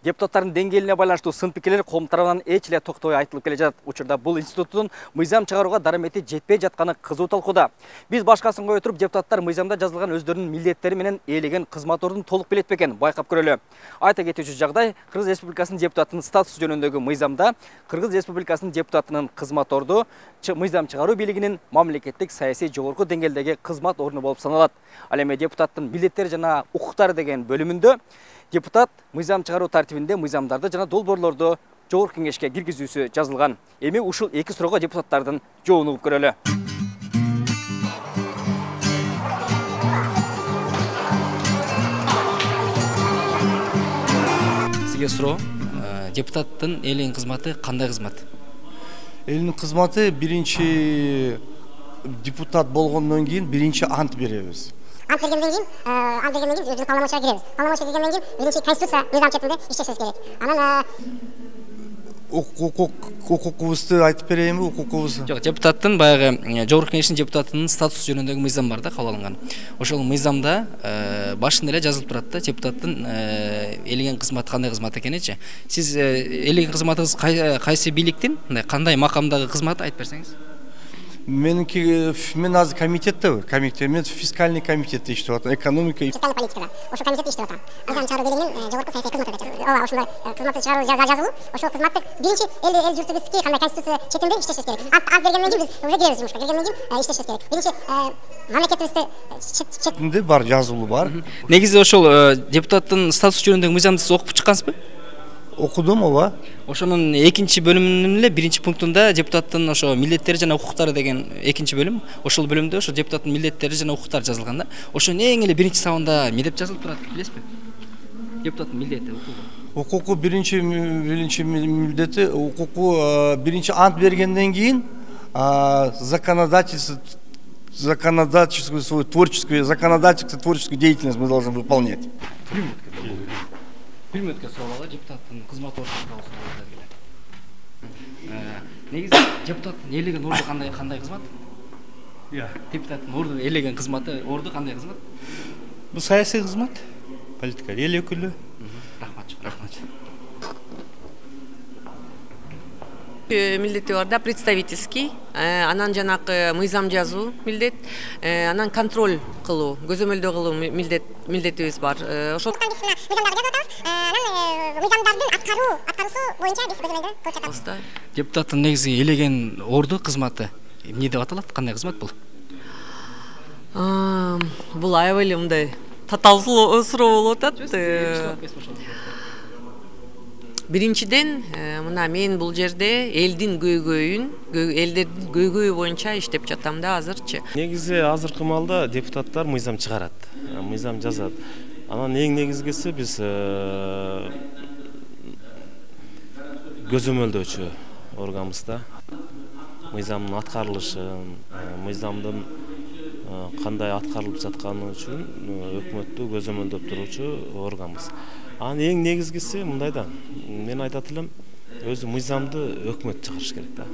Депутаттардын деңгээлине байланыштуу сын пикирлер коом тарабынан эч эле токтобой айтылып келе жатат. Учурда бул институттун мыйзам чыгарууга дарамети жетпей жатканы кызуу талкууда. Биз башкасын кое туруп, депутаттар мыйзамда жазылган өздөрүнүн милдеттери менен ээлеген кызмат толук билет бекен байкап көрөлү. Айта кетүүчү жагдай, Кыргыз Республикасынын депутатынын статусу жөнүндөгү мыйзамда Кыргыз Республикасынын депутатынын кызмат орду мыйзам чыгаруу бийлигинин мамлекеттик саясий жогорку деңгээлдеги кызмат орну болуп саналат. Ал эми депутаттын милдеттери жана укуктары деген бөлүмүндө депутат мыйзам чыгаруу тартибинде мыйзамдарды жана долбоорлорду жогорку кеңешке киргизүүсү жазылган. Эми ушул эки суроого депутаттардын жообун угуп көрөлү. Сизге суроо, депутаттын элдин кызматы кандай кызмат? Элдин кызматы биринчи депутат болгондон кийин биринчи ант беребиз. Ант бергенден кийин биз полномочияга киребиз. Полномочияга киргенден кийин биринчи конституция мыйзам четинде иштешибиз керек. Анан укукубузду айтып берейинби, укукубуз? Жок, депутаттын баягы жогорку кеңештин депутатынын статусу жөнүндөгү мыйзам бар да, кабыл алынган. Ошол мыйзамда башында эле жазылып турат да, депутаттын ээлеген кызматы кандай кызмат экеничи. Сиз ээлеген кызматыңыз кайсы бийликтин, кандай макамдагы кызмат айтып берсеңиз? Мен азыр комитеттебин. Мен фискальный комитетте иштеп атам, экономика. Фискальный политикада. Ошол комитетте иштеп атам. Мыйзам чыгаруу бийлигинин жогорку саясий кызматы деп жазылат. Ооба, ушундай кызматты чыгаруу жазылуу. Ошол кызматты биринчи эл журтубузга кандай конституция четинде иштешибиз керек. Ант бергенден кийин биз уже киребиз жумушка. Киргенден кийин иштешибиз керек. Биринчи мамлекетибизде четинде бар, жазылуу бар. Негизи ошол депутаттын статусу жөнүндөгү мыйзамды сиз окуп чыккансызбы? Окудум, ооба. Ошонун экинчи бөлүмүнүн эле биринчи пунктунда депутаттын ошо милдеттери жана укуктары деген экинчи бөлүм. Ошол бөлүмдө ошо депутаттын милдеттери жана укуктары жазылган да. Ошонун эң эле биринчи сабында эмне деп жазылып турат, билесизби? Депутаттын милдети, укугу. Укугу биринчи милдети, укугу биринчи ант бергенден кийин законодательскую свою творческую деятельность мы должны выполнять. Бир мүнөткө суроолу, депутаттын кызмат орду тууралуу суроолор келет. Негизи депутаттын ээлеген орду кандай кызмат? Депутаттын орду ээлеген кызматы, орду кандай кызмат? Бул саясий кызмат, политика, эл өкүлү. Рахмат. Милдети бар да, представительский, анан жанакы мыйзам жазуу милдет, анан контроль кылуу, көзөмөлдөө кылуу милдетибиз бар. Ошол мыйзамдарды жазып атабыз. Анан мыйзамдардын аткаруусу боюнча биз көзөмөлдөө көрүп жатабыз. Депутаттын негизи ээлеген орду кызматы эмне деп аталат? Кандай кызмат бул? Бул аябай эле мындай татаал суроо болуп атат. Биринчиден, мына мен бул жерде элдин элдердин көйгөйү боюнча иштеп жатам да азырчы. Негизи азыркы маалда депутаттар мыйзам чыгарат, мыйзам жазат. Анан эң негизгиси биз көзөмөлдөөчү органбыз да. Мыйзамдын аткарылышын, мыйзамдын кандай аткарылып жатканы үчүн өкмөттү көзөмөлдөп туруучу органбыз. Анын эң негизгиси мындай да, мен айтат элем, өзү мыйзамды өкмөт чыгарыш керек да.